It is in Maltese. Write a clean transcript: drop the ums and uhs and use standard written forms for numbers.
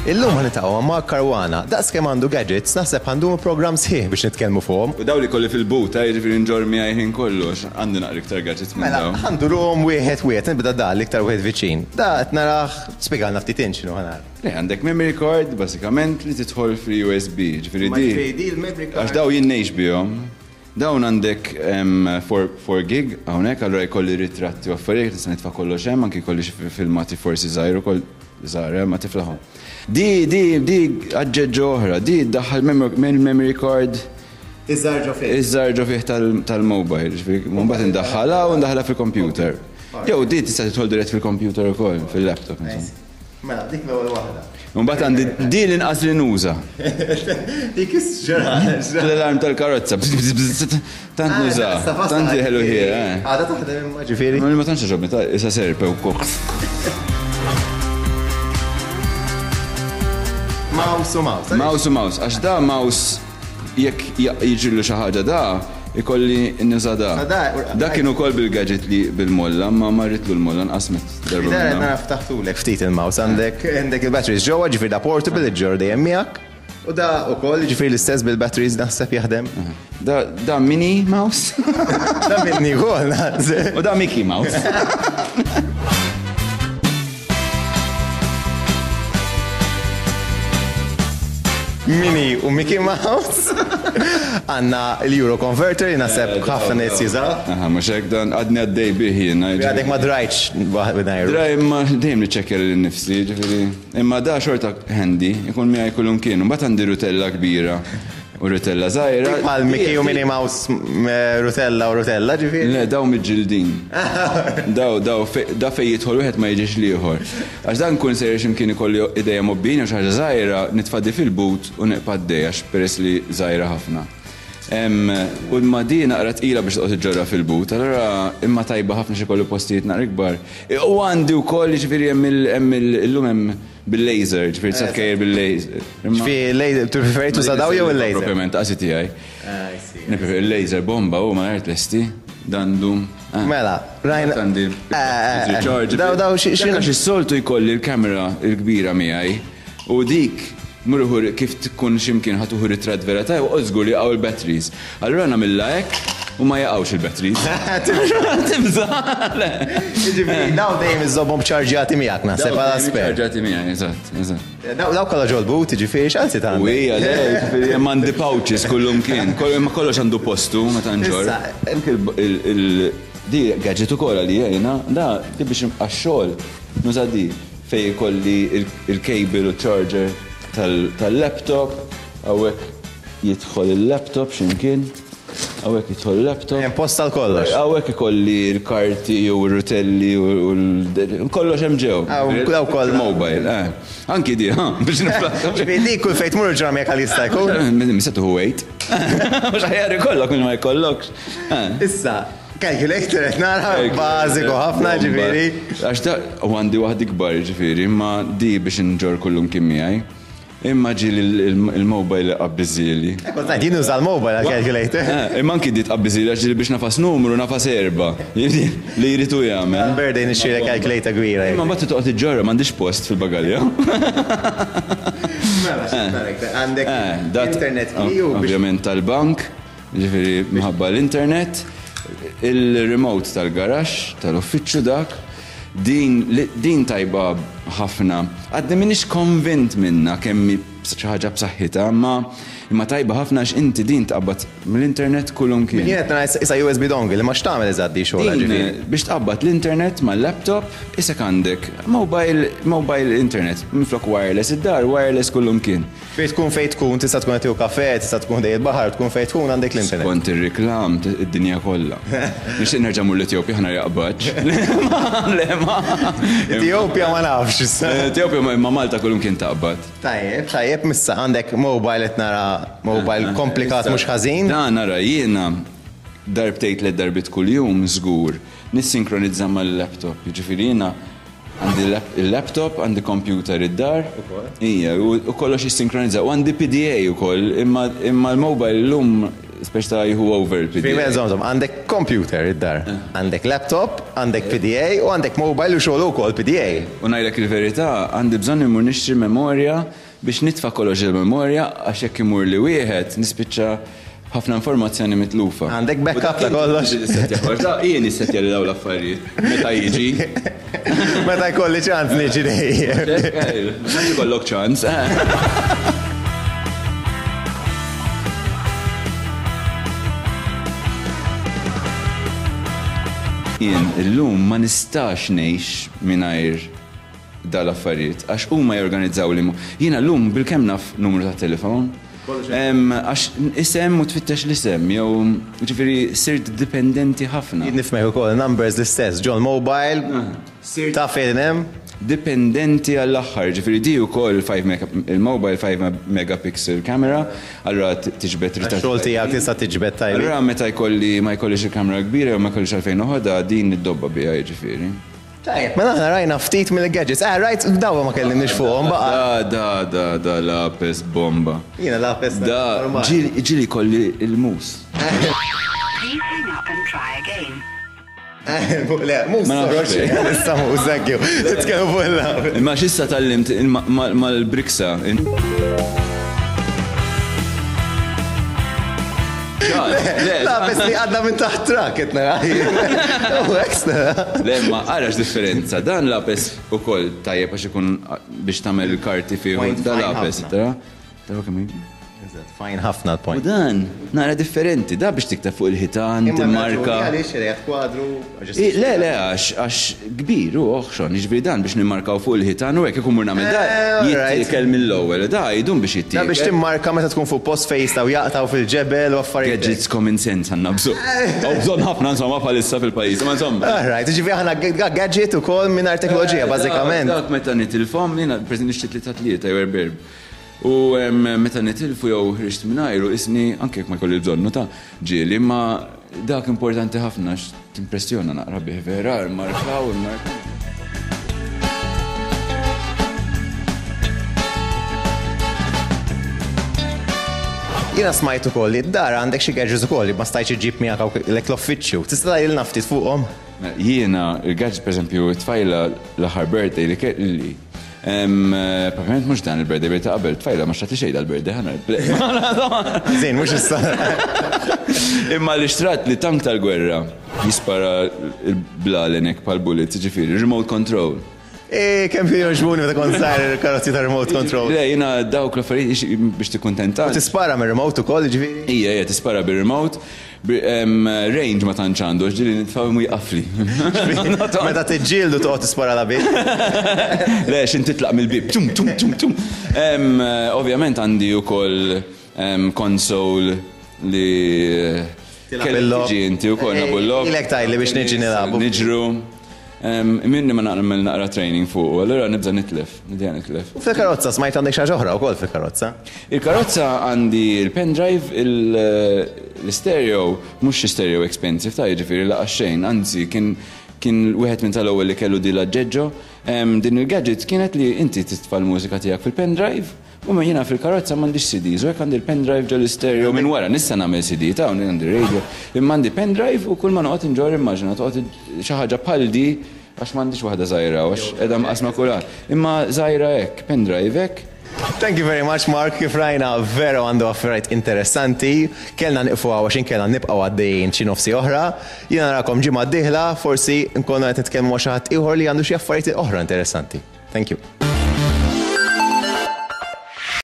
Illum ħa niltaqgħu ma' Mark Caruana. Daqs kemm għandu gadgets, naħseb ħa ndumu programm sħiħ biex nitkellmu fuqhom. U dawn li kolli fil-but, eh, jiġifieri nġorr miegħi ħin kollu għax għandi naqra iktar gadgets minn Mela, dawn. ħa nduruhom wieħed wieħed, nibda da l-iktar wieħed viċin. Da qed narah, spjegalna ftit int x'inhu ħa nara. Le, għandek memory card bażikament li tidħol fl-USB, ġifieri Ma di. ġifieri di l-memory card. Għax dawn jien ngħix bihom. Dawn għandek 4 gig hawnhekk, allura jkolli ritratti u affarijiet, nista' nitfa' kollox hemm, anki jkolli xi filmati forsi żgħir ukoll, żgħar eh, ma tiflahom. Di, di, di aġġeġġo oħra, di ddaħħal memory card. Iż-żgħar ġo fih. Iż-żgħar ġo fih tal-mobile, ġifieri mbagħad indaħħalha u ndaħħalha fil-computer. Jew di tista' tidħol dirett fil-computer ukoll, fil-laptop insomma. Mela, dik l-ewwel waħda. Mbagħad għandi din l-inqas li nuża. Dik is-ġara. L-alarm tal-karozza. Tant ah, nuża. Tant ħelu ħie. Eh. Għada taħdem imma ġifieri. Ma tantx ġobni, ta' issa serpe wkoll. Mouse u mouse. Mouse u mouse, għax da mouse Jekk jiġrilu xi ħaġa da, ikolli nuża da. Da kien ukoll bil-gadget li bil-molla, ma marritlu l-molla nqasmet darba. Da nara ftaħtulek ftit il-mouse għandek għandek il-batteries ġewwa, ġifieri da portable iġġorr dejjem miegħek. U da ukoll ġifieri l-istess bil-batteries naħseb jaħdem. Da, da mini mouse. Da mini ukoll. U da Mickey Mouse. Minnie u Mickey Mouse. Għanna l-Euro Converter li naħseb eh, ħafna nies jużaw. Aha, mhux hekk dan għadni għaddej bih jiena. Għadek ma drajtx mingħajru. Draj imma dejjem niċċekkja lil nifsi, ġifieri. Imma da xorta handy, ikun miegħi kullum kien. Mbagħad għandi rutella kbira. U rutella żgħira. Bħal Mickey u Minnie Mouse rutella u rutella ġifieri. Le, daw miġġildin. Daw, daw, da fejn jidħol wieħed ma jiġix l-ieħor. Għax dan nkun sejjer x'imkien ikolli idejja mgħobbijin jew xi ħaġa żgħira, nitfa' di fil-but u nibqa' għaddej għax peress li żgħira ħafna. U imma di naqra tqila biex toqgħod iġġorrha fil-but, allura imma tajba ħafna x'ikollu postijiet naqra ikbar. U għandi wkoll jiġifieri hemm illum hemm Bil-laser, ġifieri tista' tkejjel bil-laser. Ġifieri laser, tippreferi tuża daw jew il-laser? Propjament qasi tiegħi. Nippreferi il-laser bomba u ma tlesti dandu. Ah. Mela, rajna. Għandi eh, Daw daw xi għax is-soltu jkolli l-kamera l-kbira miegħi u dik murħur kif tkun x'imkien ħa tuħu ritratt vera tajjeb u żgur li jaqgħu l-batteries. Allura nagħmilha hekk u ma jaqgħux il-batteries. Tibża'. Jiġifieri dawn dejjem iżżommhom ċarġjati miegħek naħseb għala spare. Ċarġjati miegħi, eżatt, eżatt. Daw kollha ġol-but, jiġifieri x'anzi tagħmel? U hija le, jiġifieri hemm għandi pouches kullumkien, imma kollox għandu postu meta nġorr. Anke il di gadget ukoll għalija jiena, da di biex għax-xogħol nuża di fejn ikolli il-cable u charger tal-laptop, hawnhekk Jidħol il-laptop x'imkien. Hawnhekk jidħol il-laptop. Hemm post għal kollox. Hawnhekk ikolli l-karti u r-rutelli u kollox hemm ġew. Daw kollha. Mobile, eh. Anki di, ha, biex niflaħ. Ġifieri di kull fejn tmur ġra miegħek għal jista' jkun. Misa tuħu wait. Mhux aħjar ikollok minn ma jkollokx. Eh. Issa, calculator qed nara bażiku ħafna ġifieri. Għax da u għandi waħda ikbar ġifieri, imma di biex inġorr kullum kien miegħi. Imma ġieli l-mobile iqabbiżieli. Kont ngħid jien nuża l-mobile għall-calculator. Eh, imma anki di tqabbiżieli għax ġieli biex nafas numru nafas erbgħa. Li jrid hu jagħmel. Għall-birthday nixtrilek calculator kbira. Imma mbagħad trid toqgħod iġġorrha m'għandix post fil-bagalja. Mela x'iktar iktar għandek internet key u biex. Ovvjament tal-bank, jiġifieri minħabba l-internet, il-remote tal-garaxx, tal-uffiċċju dak. Din din tajba ħafna. Għadni m'iniex konvint minnha kemm hi xi ħaġa b'saħħitha, imma imma tajba ħafna għax inti din tqabbad mill-internet kullimkien. Jien qed nara isa USB dongle, imma x'tagħmel eżatt di xogħolha ġifieri? Din biex tqabbad l-internet mal-laptop, isek għandek mobile mobile internet, minflok wireless id-dar, wireless kullimkien. Fejn tkun fejn tkun, tista' tkun qed tieħu kafè, tista' tkun ħdej il-baħar, tkun fejn tkun għandek l-internet. Skont ir-reklam, id-dinja kollha. Nixtieq nerġa' mmur l-Etjopja ħa nara jaqbadx. Le ma. Etjopja ma nafx issa. Etjopja imma Malta kullimkien taqbad. Tajjeb, tajjeb, missa għandek mobile qed nara mobile komplikat mhux ħażin. Dan ara jiena darbtejn tliet darbiet kuljum żgur nissinkronizza mal-laptop. Jiġifieri jiena Għandi il-laptop, għandi computer id-dar. Ija, u kollox jissinkronizza. U għandi PDA ukoll, imma l-mobile llum. Speċi ta' jieħu over il-PDA. Fi żomm żomm, għandek computer id-dar, għandek laptop, għandek PDA u għandek mobile u xogħol ukoll PDA. U ngħidlek il-verità, għandi bżonn immur nixtri memorja biex nitfa' kollox il-memorja għax jekk imur li wieħed nispiċċa ħafna informazzjoni mitlufa. Għandek backup ta' kollox. Jien nissettja li dawn l-affarijiet meta jiġi. Meta jkolli ċans niġi dejjem. Meta jkollok ċans. Jien illum ma nistax ngħix mingħajr dal-affarijiet għax huma jorganizzaw li jiena llum bilkemm naf numru ta' telefon. Għax isem u tfittex l-isem jew ġifieri sirt dipendenti ħafna. Jien nifhmek ukoll, numbers l-istess, ġol mobile, taf fejn hemm. Dipendenti għall-aħħar, ġifieri di wkoll il-mobile 5 megapixel camera, allura tiġbed ritratti. Għax-xogħol tiegħek tista' tiġbed tajjeb. Allura meta jkolli ma jkollix il-kamera kbira jew ma jkollix għalfejn noħodha din niddobba biha jiġifieri. Tajjeb, mela aħna rajna ftit mill-gadgets. Eh, rajt, dawa ma kellimniex fuqhom baqa'. Da, da, da, da, lapes bomba. Jiena lapes Da, ġieli, ġieli jkolli l-mus. Please hang up and try again. Le, mus. Ma nafx. Issa mus, thank you. Titkellmu fuq il-lapes. Imma x'issa tgħallimt mal-briksa. Lapes li għadda minn taħt trak, qed nara. U hekk nara. Le, ma arax differenza. Dan lapes ukoll tajjeb għax ikun biex tagħmel il-karti fih. Da lapes, tara? Tara kemm Fajn ħafna l-point. U dan, nara differenti, da biex tikteb fuq il-ħitan, timmarka. Għaliex qiegħed kwadru? Le, le, għax kbir u oħxon, jiġifieri dan biex nimmarkaw fuq il-ħitan u hekk ikun mur nagħmel da, eh, jittiekel mill-ewwel, da jdum biex jittiekel. Da biex timmarka meta tkun fuq post fejn jistgħu jaqtgħu fil-ġebel u affarijiet. Gadgets common sense għandna bżonn. Hawn bżonn ħafna insomma bħalissa fil-pajjiż, ma insomma. All right, jiġifieri aħna gadget ukoll mingħajr teknoloġija eh, bażikament. Dak meta nitilfhom, jiena preżent nixtieq li ta' tlieta jew erberb. U meta nitilfu jew ħriġt mingħajru isni anke jekk ma jkolli bżonnu ta' ġieli, imma dak importanti ħafna għax timpressjona naqra bih vera, immarkaw, immarkaw. Jiena smajt ukoll li d-dar għandek xi gadgets ukoll li ma stajtx iġġib miegħek hawn l-uffiċċju. Tista' tgħidilna ftit fuqhom? Jiena, il-gadgets pereżempju, it-tfajla l-aħħar birthday li kelli, Proprjament mhux dan il-birthday, birthday ta' qabel, tfajla ma xtratli xejn dal-birthday, ħa ngħid. Żejn, mhux issa. Imma li xtrat li tank tal-gwerra jispara l-blalen hekk bħal bullets, jiġifieri remote control. Eh, kemm kienu jogħġbuni meta kont żgħir il-karozzi ta' remote control. Le, jiena dawk l-affarijiet biex tikkuntenta. U tispara mir-remote ukoll, jiġifieri? Ija, ija, tispara bir-remote. Range ma tantx għandu, għax ġieli nitfa' u jqafli. Meta tiġġieldu toqgħod tispara la bib. Le, x'in titlaq mill-bib. Tum, tum, tum, tum. Ovvjament għandi wkoll console li kellek tiġi inti wkoll nagħbu l-logħob. Ilek tgħidli biex niġi nilagħbu. Niġru. Minni ma nagħmel naqra training fuqu, allura nibża' nitlef, nibda nitlef. U fil-karozza smajt għandek xi ħaġa oħra wkoll fil-karozza. Il-karozza għandi il-pendrive, l-istereo, mhux xi stereo expensive ta' jiġifieri laqas xejn, anzi kien kien wieħed minn tal-ewwel li kellu di l-aġġeġġo. Din il-gadget kienet li inti titfa' l-mużika tiegħek fil-pendrive, U ma jiena fil-karozza m'għandix CDs, u hekk għandi l-pendrive ġo l-istereo minn wara, nista' nagħmel CD ta' hawn għandi radio, imma għandi pendrive u kull ma noqgħod inġorr immaġina toqgħod xi ħaġa bħal di għax m'għandix waħda żgħira għax qiegħda mqassma kulħadd. Imma żgħira hekk, pendrive hekk. Thank you very much Mark, kif rajna veru għandu affarijiet interessanti. Kellna nieqfu hawn għax inkella nibqgħu għaddejjin xi nofsi oħra. Jiena narakom ġimgħa d-dieħla, forsi nkollna qed nitkellmu ma' xi ħadd ieħor li għandu xi affarijiet oħra interessanti. Thank you.